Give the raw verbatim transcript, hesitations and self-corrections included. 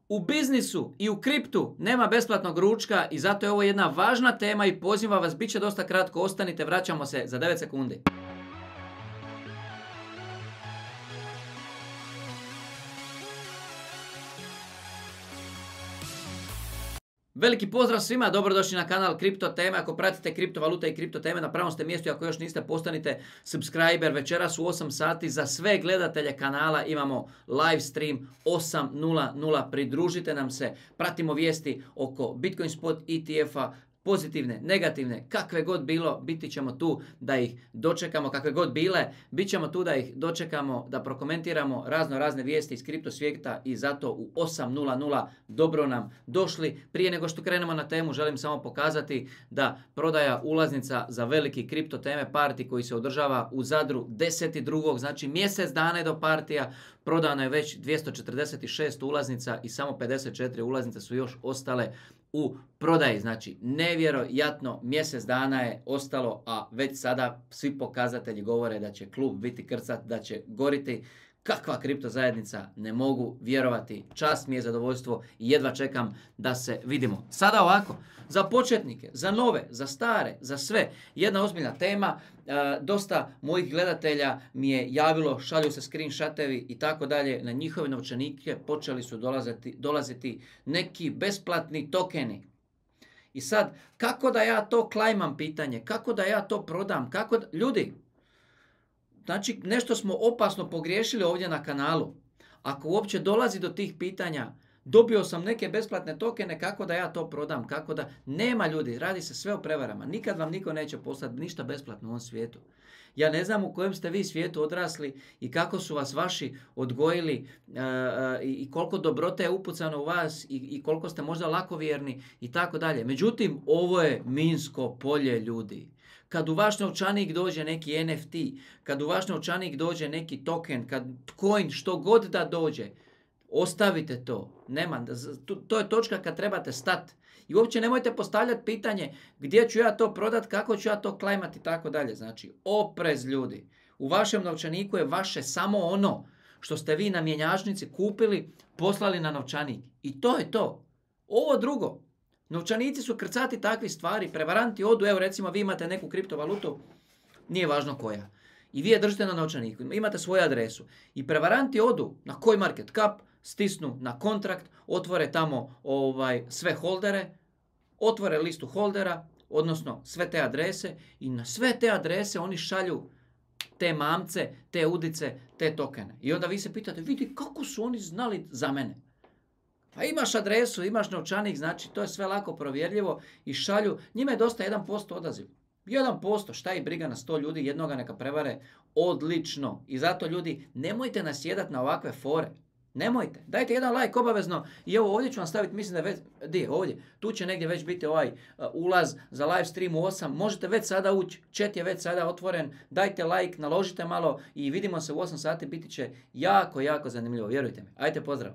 U biznisu i u kriptu nema besplatnog ručka i zato je ovo jedna važna tema i pozivam vas, bit će dosta kratko, ostanite, vraćamo se za devet sekundi. Veliki pozdrav svima, dobrodošli na kanal Kripto teme. Ako pratite kriptovalute i kripto teme, na pravom ste mjestu. Ako još niste, postanite subscriber. Večeras u osam sati za sve gledatelje kanala imamo live stream osam nula nula. Pridružite nam se, pratimo vijesti oko Bitcoin Spot E T F-a, pozitivne, negativne, kakve god bilo, biti ćemo tu da ih dočekamo, kakve god bile, bit ćemo tu da ih dočekamo, da prokomentiramo razno razne vijesti iz kripto svijeta i zato u osam nula nula dobro nam došli. Prije nego što krenemo na temu, želim samo pokazati da prodaja ulaznica za veliki kripto teme party koji se održava u Zadru deset drugog znači mjesec dana je do partija, prodano je već dvjesto četrdeset šest ulaznica i samo pedeset četiri ulaznice su još ostale u prodaji. Znači, nevjerojatno, mjesec dana je ostalo, a već sada svi pokazatelji govore da će klub biti krcat, da će goriti. Kakva kripto zajednica, ne mogu vjerovati. Čast mi je, zadovoljstvo i jedva čekam da se vidimo. Sada ovako, za početnike, za nove, za stare, za sve, jedna ozbiljna tema. E, dosta mojih gledatelja mi je javilo, šalju se screenshotevi i tako dalje. Na njihove novčanike počeli su dolaziti, dolaziti neki besplatni tokeni. I sad, kako da ja to klajmam pitanje? Kako da ja to prodam? Kako da... Ljudi, znači, nešto smo opasno pogriješili ovdje na kanalu. Ako uopće dolazi do tih pitanja, dobio sam neke besplatne tokene, kako da ja to prodam, kako da... Nema, ljudi, radi se sve o prevarama. Nikad vam niko neće poslati ništa besplatno u ovom svijetu. Ja ne znam u kojem ste vi svijetu odrasli i kako su vas vaši odgojili uh, uh, i koliko dobrote je upucano u vas i, i koliko ste možda lakovjerni i tako dalje. Međutim, ovo je minsko polje, ljudi. Kad u vaš novčanik dođe neki N F T, kad u vaš novčanik dođe neki token, kad coin, što god da dođe, ostavite to. Nema, to je točka kad trebate stati. I uopće nemojte postavljati pitanje gdje ću ja to prodat, kako ću ja to klajmati i tako dalje. Znači, oprez, ljudi. U vašem novčaniku je vaše samo ono što ste vi na mjenjačnici kupili, poslali na novčanik. I to je to. Ovo drugo. Novčanici su krcati takvi stvari, prevaranti odu, evo recimo vi imate neku kriptovalutu, nije važno koja, i vi je držite na novčaniku, imate svoju adresu i prevaranti odu na CoinMarketCap, stisnu na kontrakt, otvore tamo ovaj, sve holdere, otvore listu holdera, odnosno sve te adrese i na sve te adrese oni šalju te mamce, te udice, te tokene. I onda vi se pitate, vidi kako su oni znali za mene. Pa imaš adresu, imaš novčanik, znači to je sve lako provjerljivo i šalju. Njima je dosta jedan posto odaziv. jedan posto, šta ih briga na sto ljudi, jednoga neka prevare, odlično. I zato, ljudi, nemojte nasjedat na ovakve fore. Nemojte. Dajte jedan like obavezno i evo ovdje ću vam staviti, mislim da je već, di, ovdje, tu će negdje već biti ovaj uh, ulaz za live stream u osam. Možete već sada ući, chat je već sada otvoren, dajte like, naložite malo i vidimo se u osam sati, biti će jako, jako zanimljivo, vjerujte mi. Ajde, pozdrav.